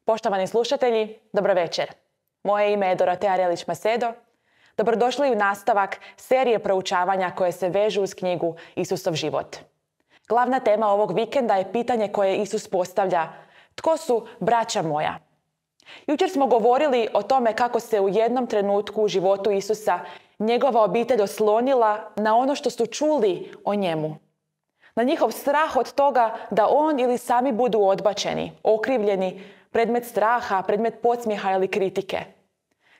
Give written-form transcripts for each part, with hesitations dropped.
Poštovani slušatelji, dobro večer. Moje ime je Dorotea Relić-Macedo. Dobrodošli u nastavak serije proučavanja koje se vežu uz knjigu Isusov život. Glavna tema ovog vikenda je pitanje koje Isus postavlja: tko su braća moja? Jučer smo govorili o tome kako se u jednom trenutku u životu Isusa njegova obitelj oslonila na ono što su čuli o njemu. Na njihov strah od toga da on ili sami budu odbačeni, okrivljeni, predmet straha, predmet podsmijeha ili kritike.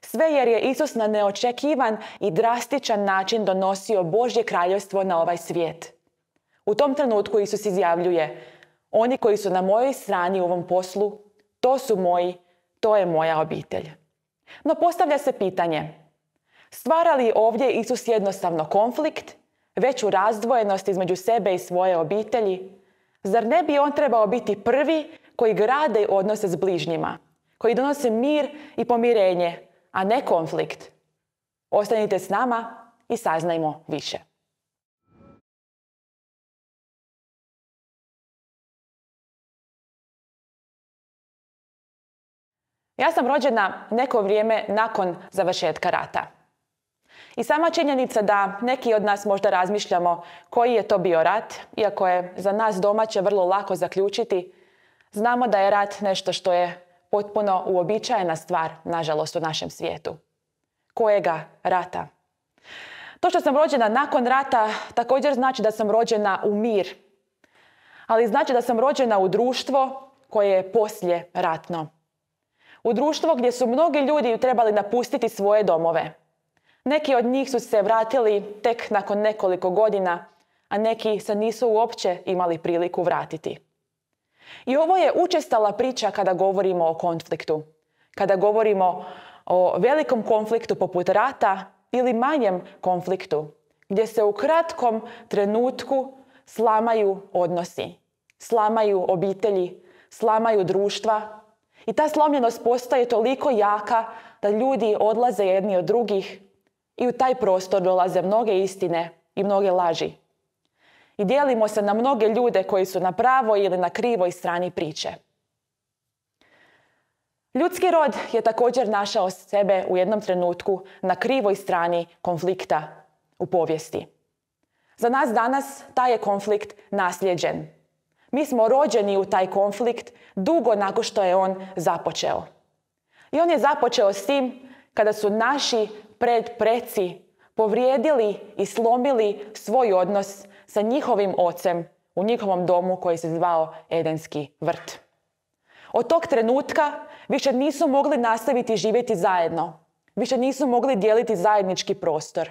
Sve jer je Isus na neočekivan i drastičan način donosio Božje kraljevstvo na ovaj svijet. U tom trenutku Isus izjavljuje: oni koji su na mojoj strani u ovom poslu, to su moji, to je moja obitelj. No postavlja se pitanje: stvara li ovdje Isus jednostavno konflikt, veću razdvojenost između sebe i svoje obitelji? Zar ne bi on trebao biti prvi koji grade odnose s bližnjima, koji donose mir i pomirenje, a ne konflikt? Ostanite s nama i saznajmo više. Ja sam rođena neko vrijeme nakon završetka rata. I sama činjenica da neki od nas možda razmišljamo koji je to bio rat, iako je za nas domaće vrlo lako zaključiti, znamo da je rat nešto što je potpuno uobičajena stvar, nažalost, u našem svijetu. Kojega rata? To što sam rođena nakon rata također znači da sam rođena u mir, ali znači da sam rođena u društvo koje je poslije ratno. U društvo gdje su mnogi ljudi trebali napustiti svoje domove. Neki od njih su se vratili tek nakon nekoliko godina, a neki se nisu uopće imali priliku vratiti. I ovo je učestala priča kada govorimo o konfliktu. Kada govorimo o velikom konfliktu poput rata ili manjem konfliktu, gdje se u kratkom trenutku slamaju odnosi, slamaju obitelji, slamaju društva. I ta slomljenost postaje toliko jaka da ljudi odlaze jedni od drugih i u taj prostor dolaze mnoge istine i mnoge laži. I dijelimo se na mnoge ljude koji su na pravoj ili na krivoj strani priče. Ljudski rod je također našao sebe u jednom trenutku na krivoj strani konflikta u povijesti. Za nas danas taj je konflikt naslijeđen. Mi smo rođeni u taj konflikt dugo nakon što je on započeo. I on je započeo s tim kada su naši predpreci povrijedili i slomili svoj odnos sa njihovim ocem u njihovom domu koji se zvao Edenski vrt. Od tog trenutka više nisu mogli nastaviti živjeti zajedno. Više nisu mogli dijeliti zajednički prostor.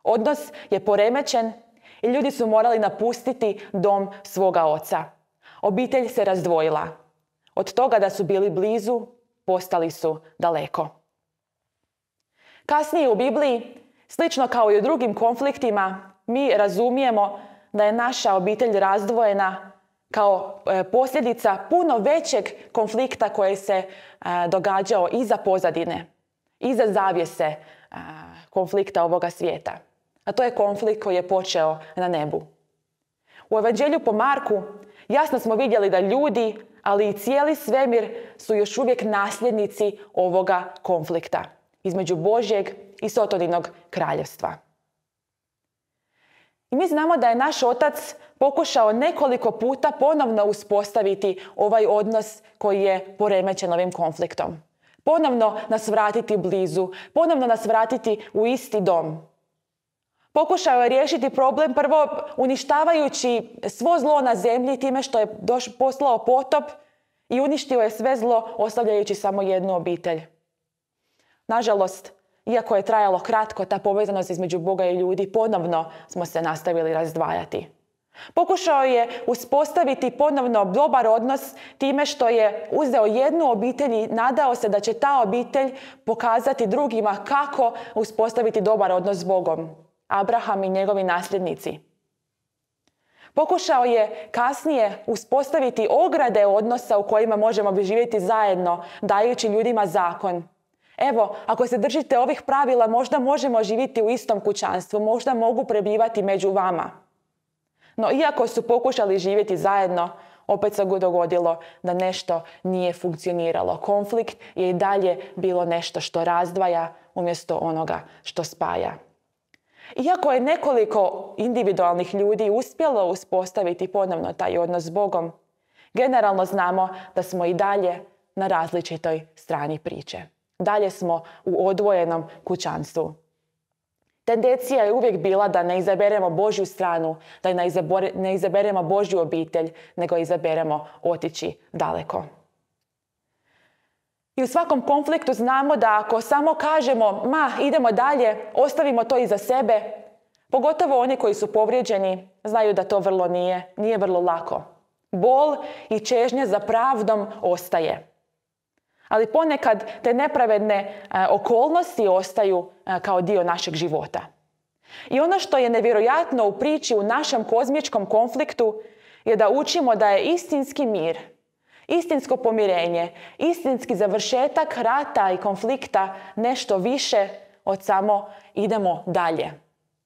Odnos je poremećen i ljudi su morali napustiti dom svoga oca. Obitelj se razdvojila. Od toga da su bili blizu, postali su daleko. Kasnije u Bibliji, slično kao i u drugim konfliktima, mi razumijemo da je naša obitelj razdvojena kao posljedica puno većeg konflikta koji se događao iza pozadine, iza zavjese konflikta ovoga svijeta. A to je konflikt koji je počeo na nebu. U Evanđelju po Marku jasno smo vidjeli da ljudi, ali i cijeli svemir su još uvijek nasljednici ovoga konflikta između Božjeg i Sotoninog kraljevstva. I mi znamo da je naš otac pokušao nekoliko puta ponovno uspostaviti ovaj odnos koji je poremećen ovim konfliktom. Ponovno nas vratiti blizu, ponovno nas vratiti u isti dom. Pokušao je riješiti problem prvo uništavajući svo zlo na zemlji time što je poslao potop i uništio je sve zlo ostavljajući samo jednu obitelj. Nažalost, iako je trajalo kratko, ta povezanost između Boga i ljudi, ponovno smo se nastavili razdvajati. Pokušao je uspostaviti ponovno dobar odnos time što je uzeo jednu obitelj i nadao se da će ta obitelj pokazati drugima kako uspostaviti dobar odnos s Bogom. Abraham i njegovi nasljednici. Pokušao je kasnije uspostaviti ograde odnosa u kojima možemo živjeti zajedno, dajući ljudima zakon. Evo, ako se držite ovih pravila, možda možemo živjeti u istom kućanstvu, možda mogu prebivati među vama. No, iako su pokušali živjeti zajedno, opet se dogodilo da nešto nije funkcioniralo. Konflikt je i dalje bilo nešto što razdvaja umjesto onoga što spaja. Iako je nekoliko individualnih ljudi uspjelo uspostaviti ponovno taj odnos s Bogom, generalno znamo da smo i dalje na različitoj strani priče. Dalje smo u odvojenom kućanstvu. Tendencija je uvijek bila da ne izaberemo Božju stranu, da ne izaberemo Božju obitelj, nego izaberemo otići daleko. I u svakom konfliktu znamo da ako samo kažemo idemo dalje, ostavimo to iza sebe, pogotovo oni koji su povrijeđeni, znaju da to nije vrlo lako. Bol i čežnja za pravdom ostaje. Ali ponekad te nepravedne okolnosti ostaju kao dio našeg života. I ono što je nevjerojatno u priči u našem kozmičkom konfliktu je da učimo da je istinski mir, istinsko pomirenje, istinski završetak rata i konflikta nešto više od samo idemo dalje.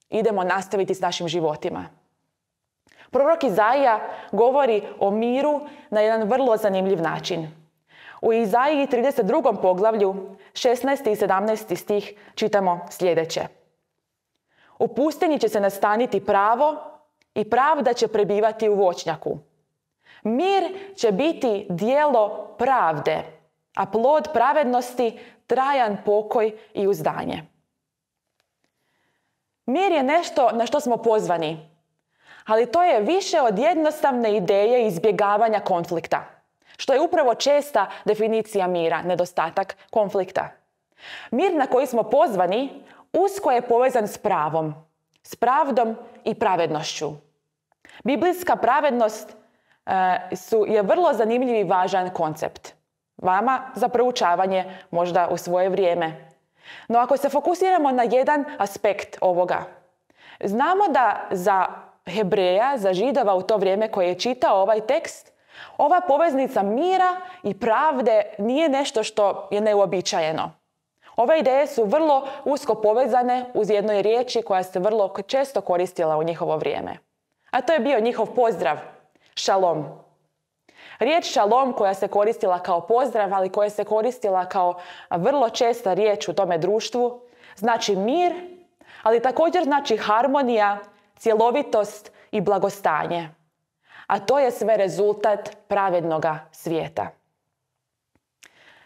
Idemo nastaviti s našim životima. Prorok Izaija govori o miru na jedan vrlo zanimljiv način. U Izaiji 32. poglavlju, 16. i 17. stih čitamo sljedeće. U pustinji će se nastaniti pravo i pravda će prebivati u voćnjaku. Mir će biti djelo pravde, a plod pravednosti trajan pokoj i uzdanje. Mir je nešto na što smo pozvani, ali to je više od jednostavne ideje izbjegavanja konflikta, što je upravo česta definicija mira, nedostatak konflikta. Mir na koji smo pozvani usko je povezan s pravom, s pravdom i pravednošću. Biblijska pravednost je vrlo zanimljiv i važan koncept. Vama za proučavanje možda u svoje vrijeme. No ako se fokusiramo na jedan aspekt ovoga, znamo da za Hebreja, za Židova u to vrijeme koji je čitao ovaj tekst, ova poveznica mira i pravde nije nešto što je neuobičajeno. Ove ideje su vrlo usko povezane uz jednoj riječi koja se vrlo često koristila u njihovo vrijeme. A to je bio njihov pozdrav, šalom. Riječ šalom koja se koristila kao pozdrav, ali koja se koristila kao vrlo česta riječ u tome društvu, znači mir, ali također znači harmonija, cjelovitost i blagostanje. A to je sve rezultat pravednoga svijeta.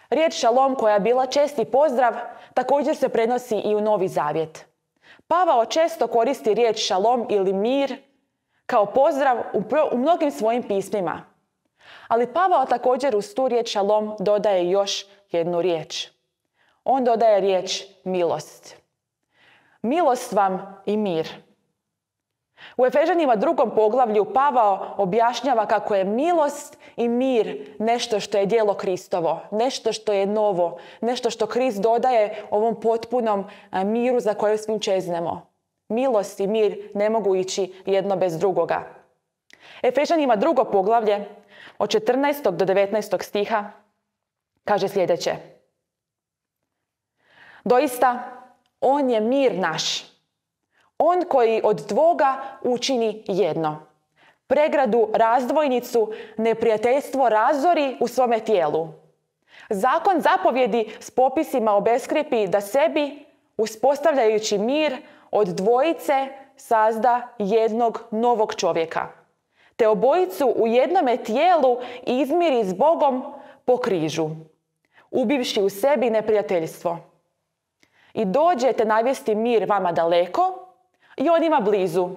Riječ šalom koja je bila česti pozdrav također se prenosi i u Novi Zavjet. Pavao često koristi riječ šalom ili mir kao pozdrav u mnogim svojim pismima. Ali Pavao također uz tu riječ šalom dodaje još jednu riječ. On dodaje riječ milost. Milost vam i mir. U Efežanima 2. poglavlju Pavao objašnjava kako je milost i mir nešto što je djelo Kristovo, nešto što je novo, nešto što Krist dodaje ovom potpunom miru za koje svim čeznemo. Milost i mir ne mogu ići jedno bez drugoga. Efežanima 2. poglavlje od 14. do 19. stiha kaže sljedeće. Doista, on je mir naš. On koji od dvoga učini jedno. Pregradu, razdvojnicu, neprijateljstvo razori u svome tijelu. Zakon zapovjedi s popisima obeskripi da sebi, uspostavljajući mir, od dvojice sazda jednog novog čovjeka. Te obojicu u jednome tijelu izmiri s Bogom po križu, ubivši u sebi neprijateljstvo. I dođete navesti mir vama daleko i onima blizu,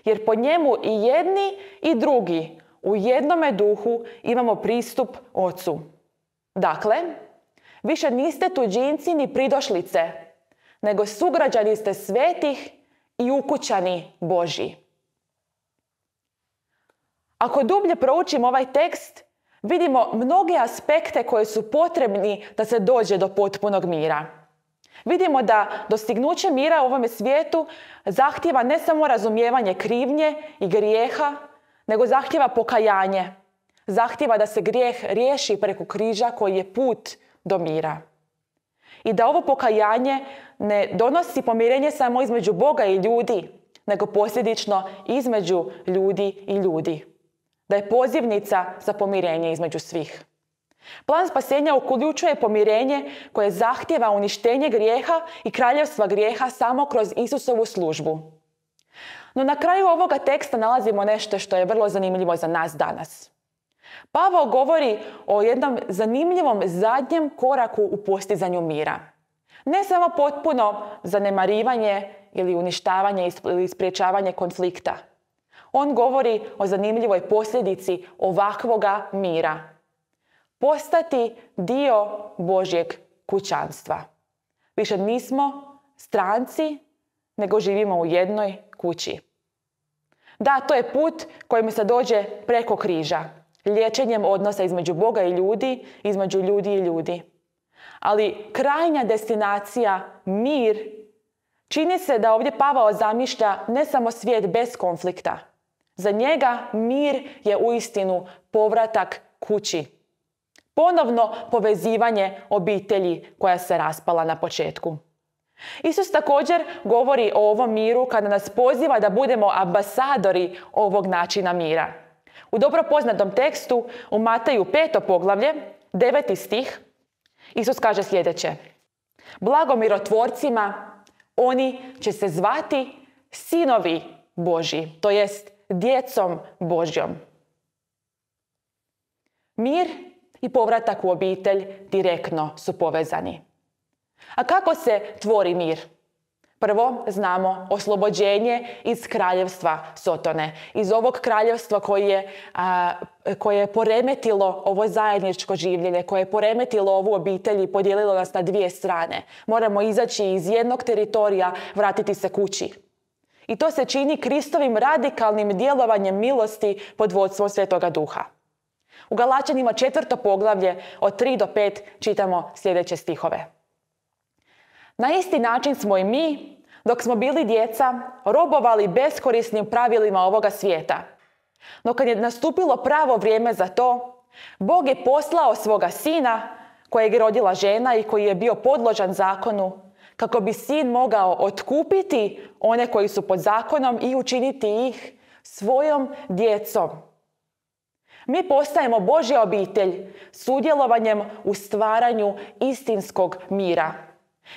jer po njemu i jedni i drugi u jednome duhu imamo pristup Ocu. Dakle, više niste tuđinci ni pridošlice, nego sugrađani ste svetih i ukućani Božji. Ako dublje proučimo ovaj tekst, vidimo mnoge aspekte koji su potrebni da se dođe do potpunog mira. Vidimo da dostignuće mira u ovome svijetu zahtijeva ne samo razumijevanje krivnje i grijeha, nego zahtijeva pokajanje. Zahtijeva da se grijeh riješi preko križa koji je put do mira. I da ovo pokajanje ne donosi pomirenje samo između Boga i ljudi, nego posljedično između ljudi i ljudi. da je pozivnica za pomirenje između svih. Plan spasenja uključuje pomirenje koje zahtijeva uništenje grijeha i kraljevstva grijeha samo kroz Isusovu službu. No na kraju ovoga teksta nalazimo nešto što je vrlo zanimljivo za nas danas. Pavao govori o jednom zanimljivom zadnjem koraku u postizanju mira. Ne samo potpuno zanemarivanje ili uništavanje ili spriječavanje konflikta. On govori o zanimljivoj posljedici ovakvoga mira. Postati dio Božjeg kućanstva. Više nismo stranci, nego živimo u jednoj kući. Da, to je put kojim se dođe preko križa, liječenjem odnosa između Boga i ljudi, između ljudi i ljudi. Ali krajnja destinacija, mir, čini se da ovdje Pavao zamišlja ne samo svijet bez konflikta. Za njega mir je uistinu povratak kući. Ponovno povezivanje obitelji koja se raspala na početku. Isus također govori o ovom miru kada nas poziva da budemo ambasadori ovog načina mira. U dobro poznatom tekstu u Mateju 5. poglavlje, 9. stih, Isus kaže sljedeće: Blago mirotvorcima, oni će se zvati sinovi Božji, to jest djecom Božjom. Mir i povratak u obitelj direktno su povezani. A kako se tvori mir? Prvo, znamo oslobođenje iz kraljevstva Sotone. Iz ovog kraljevstva koje je poremetilo ovo zajedničko življenje, koje je poremetilo ovu obitelj i podijelilo nas na dvije strane. Moramo izaći iz jednog teritorija, vratiti se kući. I to se čini Kristovim radikalnim djelovanjem milosti pod vodstvom Svetoga Duha. U Galačanima 4. poglavlje od 3 do 5 čitamo sljedeće stihove. Na isti način smo i mi, dok smo bili djeca, robovali beskorisnim pravilima ovoga svijeta. No kad je nastupilo pravo vrijeme za to, Bog je poslao svoga sina, kojeg je rodila žena i koji je bio podložan zakonu, kako bi sin mogao otkupiti one koji su pod zakonom i učiniti ih svojom djecom. Mi postajemo Božja obitelj sudjelovanjem u stvaranju istinskog mira.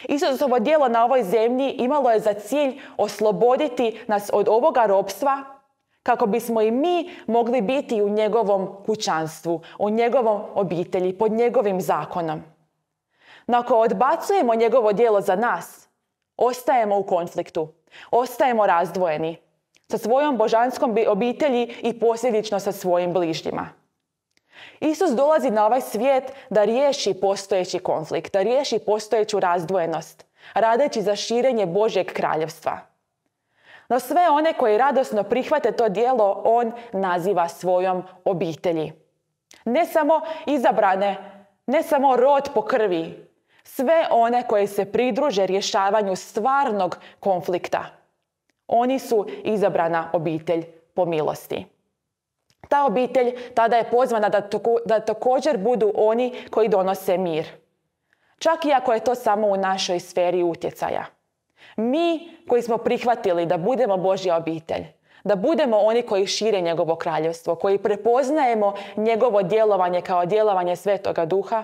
Isusovo djelo na ovoj zemlji imalo je za cilj osloboditi nas od ovoga ropstva, kako bismo i mi mogli biti u njegovom kućanstvu, u njegovom obitelji, pod njegovim zakonom. No ako odbacujemo njegovo djelo za nas, ostajemo u konfliktu, ostajemo razdvojeni sa svojom božanskom obitelji i posljedično sa svojim bližnjima. Isus dolazi na ovaj svijet da riješi postojeći konflikt, da riješi postojeću razdvojenost, radeći za širenje Božjeg kraljevstva. No sve one koji radosno prihvate to djelo, on naziva svojom obitelji. Ne samo izabrane, ne samo rod po krvi, sve one koji se pridruže rješavanju stvarnog konflikta. Oni su izabrana obitelj po milosti. Ta obitelj tada je pozvana da također budu oni koji donose mir. Čak i ako je to samo u našoj sferi utjecaja. Mi koji smo prihvatili da budemo Božja obitelj, da budemo oni koji šire njegovo kraljevstvo, koji prepoznajemo njegovo djelovanje kao djelovanje Svetoga Duha,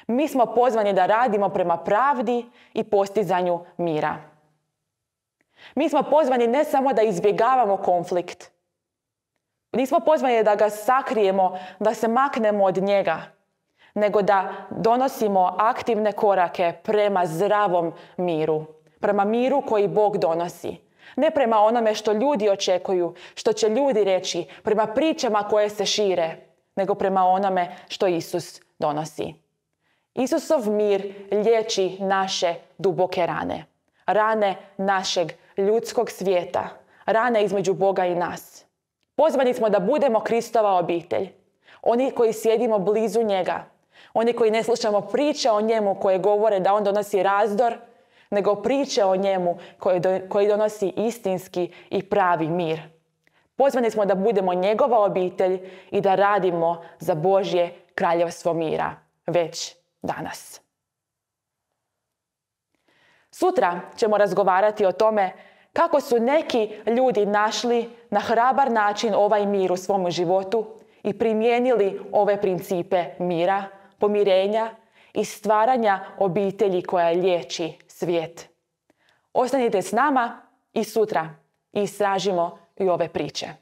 mi smo pozvani da radimo prema pravdi i postizanju mira. Mi smo pozvani ne samo da izbjegavamo konflikt, nismo pozvani da ga sakrijemo, da se maknemo od njega, nego da donosimo aktivne korake prema zdravom miru. Prema miru koji Bog donosi. Ne prema onome što ljudi očekuju, što će ljudi reći, prema pričama koje se šire, nego prema onome što Isus donosi. Isusov mir liječi naše duboke rane. Rane našeg ljudskog svijeta. Rane između Boga i nas. Pozvani smo da budemo Kristova obitelj. Oni koji sjedimo blizu njega. Oni koji ne slušamo priče o njemu koje govore da on donosi razdor, nego priče o njemu koji donosi istinski i pravi mir. Pozvani smo da budemo njegova obitelj i da radimo za Božje kraljevstvo mira već danas. Sutra ćemo razgovarati o tome kako su neki ljudi našli na hrabar način ovaj mir u svom životu i primijenili ove principe mira, pomirenja i stvaranja obitelji koja liječi svijet. Ostanite s nama i sutra istražimo i ove priče.